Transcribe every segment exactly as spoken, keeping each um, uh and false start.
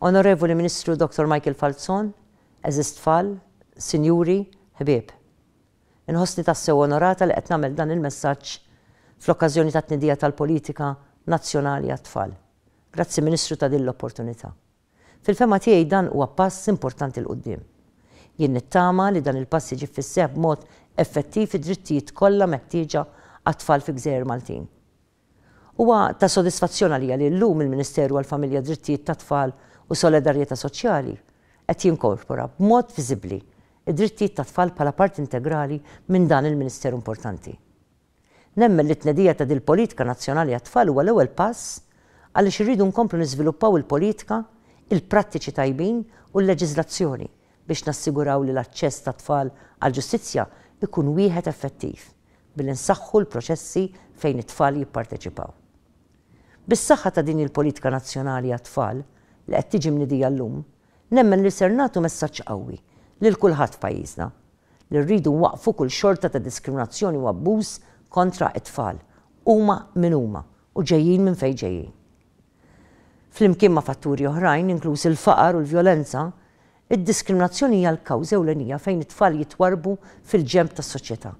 Onorevoli Ministru Dottor Michael Falzon, għeżież tfal, sinjuri, ħbieb. Inħossni tassew onorata li qed nagħmel dan il-messaġġ fl-okkażjoni ta' tnedija tal-politika nazzjonali għat-tfal. Grazzi, Ministru, ta' din l-opportunità. Fil-fehma tiegħi dan huwa pass importanti 'l quddiem. Jien nittama li dan il-pass jiġi fis-seħħ b'mod effettiv id-drittijiet kollha meħtieġa għat-tfal fi Gżejjer Maltin. Huwa ta' sodisfazzjon għalija li llum il-Ministeru għall-Familja, Drittijiet tat-Tfal u Solidarjetà Soċjali qed jinkorpora b'mod viżibbli id-drittijiet tat-tfal bħala parti integrali minn dan il-Ministeru importanti. Nemmen li t-tnedija ta' dil-politika nazzjonali għat-tfal huwa l-ewwel pass, għaliex irridu nkomplu niżviluppaw il-politika, il-prattiċi tajbin u l-leġiżlazzjoni biex nassiguraw li l-aċċess tat-tfal għall-ġustizzja ikun wieħed effettiv billi nsaħħu l-proċessi fejn it-tfal jipparteċipaw. Bis-saħħa ta' din il-politika nazzjonali għat-tfal li qed tiġi mnedija llum, nemmen li ser nagħtu messaġġ qawwi lil kulħadd f'pajjiżna li rridu nwaqfu kull xorta ta' diskriminazzjoni u abbuż kontra it-tfal, huma min huma u ġejjin minn fejn ġejjin. Flimkien ma' fatturi oħrajn, inkluż il-faqar u l-vjolenza, id-diskriminazzjoni hija l-kawża ewlenija fejn it-tfal jitwarbu fil-ġenb tas-soċjetà.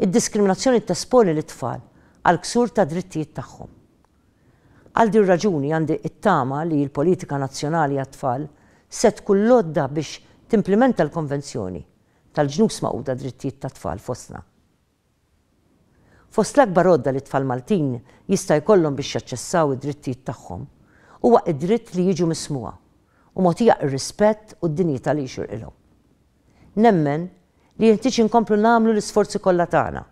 Id-diskriminazzjoni tesponi lit-tfal għal ksur ta' drittijiet tagħhom. Għal din raġuni għandi it-tama li l-politika nazzjonali għat-tfal se tkun l-għodda biex timplementa l-Konvenzjoni tal-Ġnus Magħquda Drittijiet tat-Tfal fostna. Fost l-akbar għodda li tfal Maltin jista' jkollhom biex jaċċessaw id-drittijiet tagħhom huwa id-dritt li jiġu mismugħa u mogħtija ir-rispett u d-dinjità li jixirqilhom. Nemmen li jeħtieġ inkomplu nagħmlu l-isforzi kollha tagħna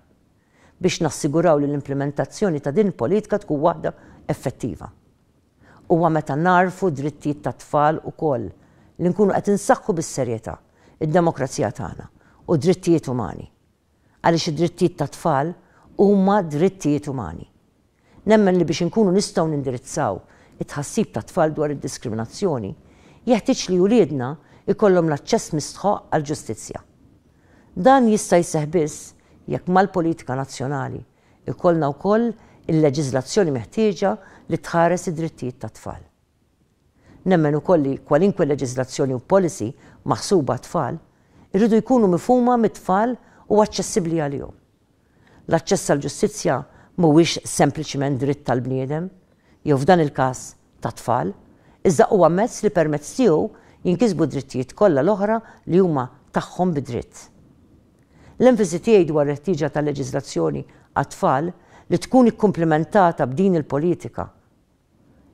biex nassiguraw li l-implementazzjoni ta' din il-politika tkun waħda effettiva. Huwa meta nagħrfu drittijiet tat-tfal ukoll li nkunu qed insaħħu bis-serjetà id-demokrazija tagħna u drittijiet umani. Għaliex id-drittijiet tat-tfal huma drittijiet umani. Nemmen li biex inkunu nistgħu nindirizzaw it-tħassib tat-tfal dwar id-diskriminazzjoni, jeħtieġ li uliedna ikollhom l-aċċess mistħoq għall-ġustizzja. Dan jista' jseħħ biss jekk mal-politika nazzjonali ikollna wkoll il-leġiżlazzjoni meħtieġa li tħares id-drittijiet tat-tfal. Nemmen ukoll li kwalinkwe leġiżlazzjoni u policy maħsuba tfal irridu jkunu mifhuma mit-tfal u aċċessibbli għalihom. L-aċċess għall-ġustizzja mhuwiex sempliċiment dritt tal-bniedem, jew f'dan il-każ tat-tfal, iżda huwa mezz li permezz tiegħu jinkisbu drittijiet kollha l-oħra li huma tagħhom bidritt. L-enfasi tiegħi dwar il-ħtieġa tal-leġiżlazzjoni għat-tfal li tkun ikkumplimentata b'din il-politika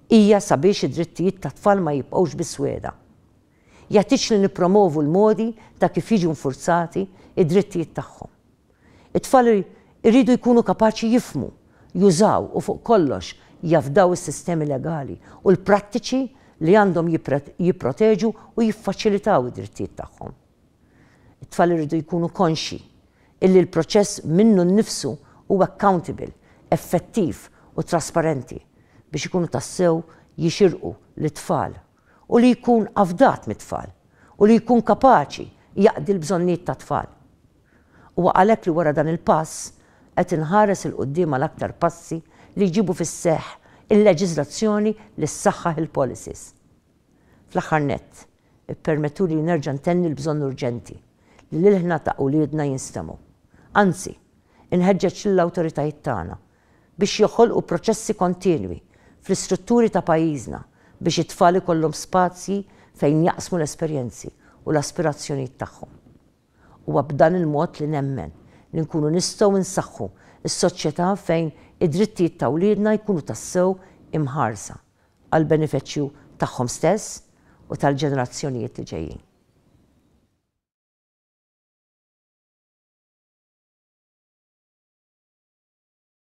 hija sabiex id-drittijiet tat-tfal ma jibqgħux biss wegħda. Jeħtieġ li nippromovu l-modi ta' kif jiġu nfurzati id-drittijiet tagħhom. It-tfal iridu jkunu kapaċi jifhmu, jużaw u fuq kollox jafdaw is-sistemi legali u l-prattiċi li għandhom jipproteġu u jiffaċilitaw id-drittijiet tagħhom. It-tfal iridu jkunu konxi illi l-proċess minnu nnifsu huwa accountable, effettiv u trasparenti biex ikunu tassew jixirqu lit-tfal u li jkun afdat mit-tfal u li jkun kapaċi jaqdi l-bżonnijiet tat-tfal. U għalhekk li wara dan il-pass qed inħares 'il quddiem għal aktar passi li jġibu fis-seħħ il-leġiżlazzjoni li ssaħħaħ il-policies. Fl-aħħar nett, ippermettuli li nerġa' ntenni l-bżonn urġenti li l-ilħna ta' uliedna jinstemgħu. Anzi, inħeġġeġ lill-awtoritajiet tagħna biex joħolqu proċessi kontinwi fl-istrutturi ta' pajjiżna biex it-tfal ikollhom spazji fejn jaqsmu l-esperjenzi u l-aspirazzjonijiet tagħhom. Huwa b'dan il-mod li nemmen li nkunu nistgħu nsaħħu s-soċjetà fejn id-drittijiet ta' wliedna jkunu tassew imħarsa għal benefiċċju tagħhom stess u tal-ġenerazzjonijiet li ġejjin.